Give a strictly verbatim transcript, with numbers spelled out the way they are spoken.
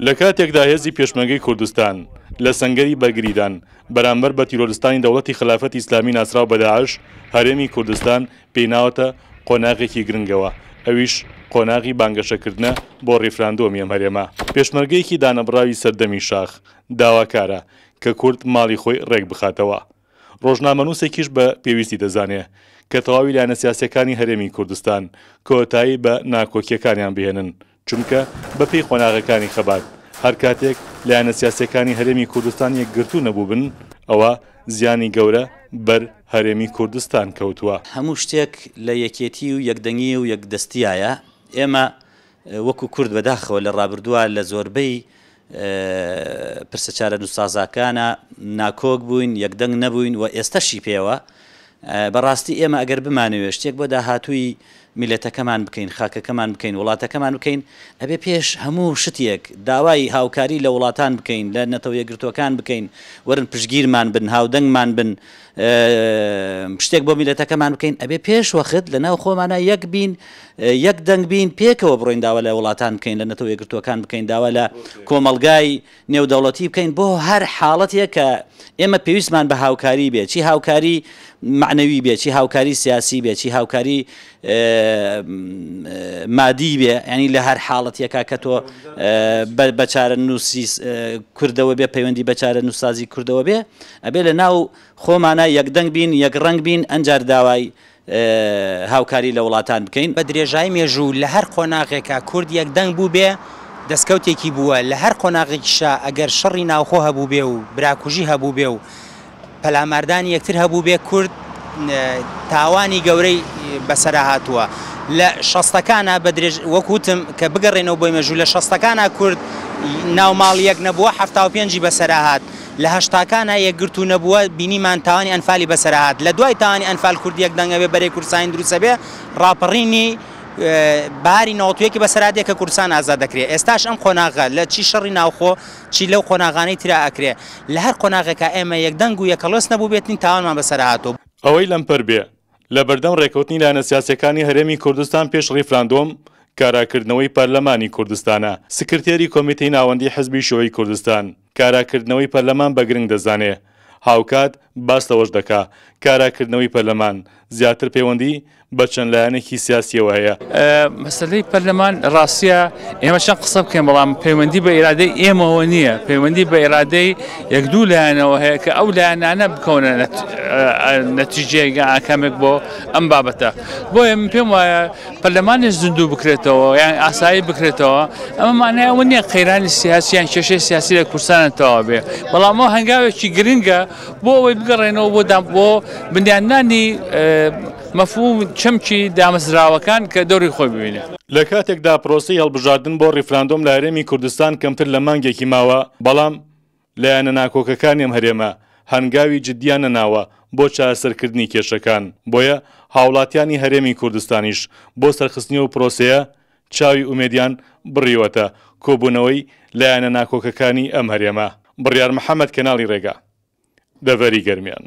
لە کاتێکدا هێزی پێشمەرگەی کوردستان لە سەنگەری بەرگریدان بەرامبەر بە تیرۆرستانی دەوڵەتی خلافەتی ئیسلامی ناسراو بە داعش، هەرێمی کوردستان پێی ناوەتە قۆناغێکی گرنگەوە، ئەویش قۆناغی بانگەشەکردنە بۆ ڕیفراندۆمی ئەم هەرێمە. پێشمەرگەیەکی دانەبڕاوی سەردەمی شاخ داواکارە کە کورد ماڵی خۆی ڕێک بخاتەوە. ڕۆژنامەنووسێکیش بە پێویستی دەزانێ کە تەواوی لایەنە سیاسیەکانی هەرێمی کوردستان کۆتایی بە ناکۆکیەکانیان بهێنن، چونکە بەپێی قۆناغەکانی خەبات هەر کاتێک لایەنە سیاسیەکانی هەرێمی کوردستان یەکگرتوو نەبووبن ئەوە زیانی گەورە بەر هەرێمی کوردستان کەوتووە. هەموو شتێک لە یەکێتی و یەکدەنگی و یەکدەستیایە. ئێمە وەکو کورد بەداخەوە لە ڕابردووە لە زۆربەی پرسە چارەنووسسازەکانە ناکۆک بووین، یەکدەنگ نەبووین و ئێستەشی پێوە. بەڕاستی ئێمە ئەگەر بمانەوێت شتێک بۆ داهاتووی میلەتەکەمان بکەین، خاکەکەمان بکەین، وڵاتەکەمان بکەین، ئەبێ پێش هەموو شتێک داوای هاوکاری لە وڵاتان بکەین، لە نەتەوە یەکگرتووەکان بکەین، وەرن پشتگیرمان بن، هاودەنگمان بن، شتێک بۆ میلەتەکەمان بکەین. ئەبێ پێش وەخت لە ناو خۆمانە یەک بین، یەک دەنگ بین، پێکەوە بڕۆین داوا لە وڵاتان بکەین، لە نەتەوە یەکگرتووەکان بکەین، داوا لە کۆمەڵگای نێودەوڵەتی بکەین بۆ هەر حاڵەتێک کە ئێمە پێویستمان بە هاوکاری بێ، چی هاوکاری معنەوی بێ، چی هاوکاری سیاسی بێ، چی هاوکاری مادی بێ. ینی لە هەر حاڵەتێکا کە تۆ بە چارەنووسی کوردەوە بێ، پەیوەندی بە چارەنووسسازی کوردەوە بێ، ئەبێ لە ناو خۆمانە یەکدەنگ بین، یەک ڕەنگ بین، ئەنجار داوای هاوکاری لە وڵاتان بکەین. بە درێژایی مێژوو لە هەر قۆناغێکا کورد یەکدەنگ بوو بێ دەستکەوتێکی بووە، لە هەر قۆناغێکیشا ئەگەر شەڕی ناوخۆ هەبوو بێ و براکوژی هەبوو بێ و پەلاماردانی یەکتر هەبوو بێ، کورد تاوانی گەورەی بەسەرا هاتووە. لە شەستەکانە بە درێژ وەکوتم کە بگەڕێنەوە بۆی مێژوو، لە شەستەکانە کورد ناو ماڵ یەک نەبووە، حەفتا و پێنجی بەسەرا هات. لە هەشتاکانە یەکگرتوو نەبووە، بینیمان تاوانی ئەنفالی بەسەرا هات. لە دوای تاوانی ئەنفال کورد یەک دەنگە بێ، بەرەی کوردستانی دروستە بێ، ڕاپەڕینی باری نەوەتویەکی بەسەرا دێ کە کوردستان ئازاد دەکرێت. ئێستاش ئەم قۆناغە لە چی شەڕی ناوخۆ چی لەو قۆناغانەی ترا ئەکرێ، لە هەر قۆناغێکا ئێمە یەکدەنگ و یەکەڵۆس نەبوو بێتین تاوانمان بەسەرا هاتوو. ئەوەی لەمپەر بێ لە بەردەم ڕێکەوتنی لایەنە سیاسیەکانی هەرێمی کوردستان پێش ڕیفراندۆم کاراکردنەوەی پەرلەمانی کوردستانە. سکرتێری کۆمیتەی ناوەندی حزبی شیوعی کوردستان کاراکردنەوەی پەرلەمان بە گرنگ دەزانێ، هاوکات باس لەوەش دەکا کاراکردنەوەی پەرلەمان زیاتر پەیوەندی بە چەند لایەنێکی سیاسیەوە هەیە. مەسەلەی پەرلەمان ڕاستیە ئێمە چەند قسە بکەین، بەڵام پەیوەندی بە ئیرادەی ئێمەوە نییە، پەیوەندی بە ئیرادەی یەک دوو لایەنەوە هەیە کە ئەو لایەنانە بکەونە نەتیجەیەک ئاکامێک بۆ ئەم بابەتە. بۆیە من پێم وایە پەرلەمانیش زیندوو بکرێتەوە یان ئاسایی بکرێتەوە، ئەمە مانای ئەوە نییە قەیرانی سیاسی یان کێشەی سیاسی لە کوردستانە تەواو بێ، بەڵام ئەو هەنگاوێکی گرنگە بۆ ئەوەی بگەڕێنەوە بۆ بۆ بنیادنانی مەفهوم چەمکی دامەزراوەکان کە دەوری خۆی ببینێ. لە کاتێکدا پرۆسەی هەڵبژاردن بۆ ڕیفراندۆم لە هەرێمی کوردستان کەمتر لە مانگێکی ماوە، بەڵام لایەنە ناکۆکەکانی ئەم هەرێمە هەنگاوی جدیان نەناوە بۆ چارەسەرکردنی کێشەکان، بۆیە هاوڵاتیانی هەرێمی کوردستانیش بۆ سەرخستنی ئەو پرۆسەیە چاوی ئومێدیان بڕیوەتە کۆبوونەوەی لایەنە ناکۆکەکانی ئەم هەرێمە. بڕیار محەممەد، کەناڵی ڕێگا، دەڤەری گەرمیان.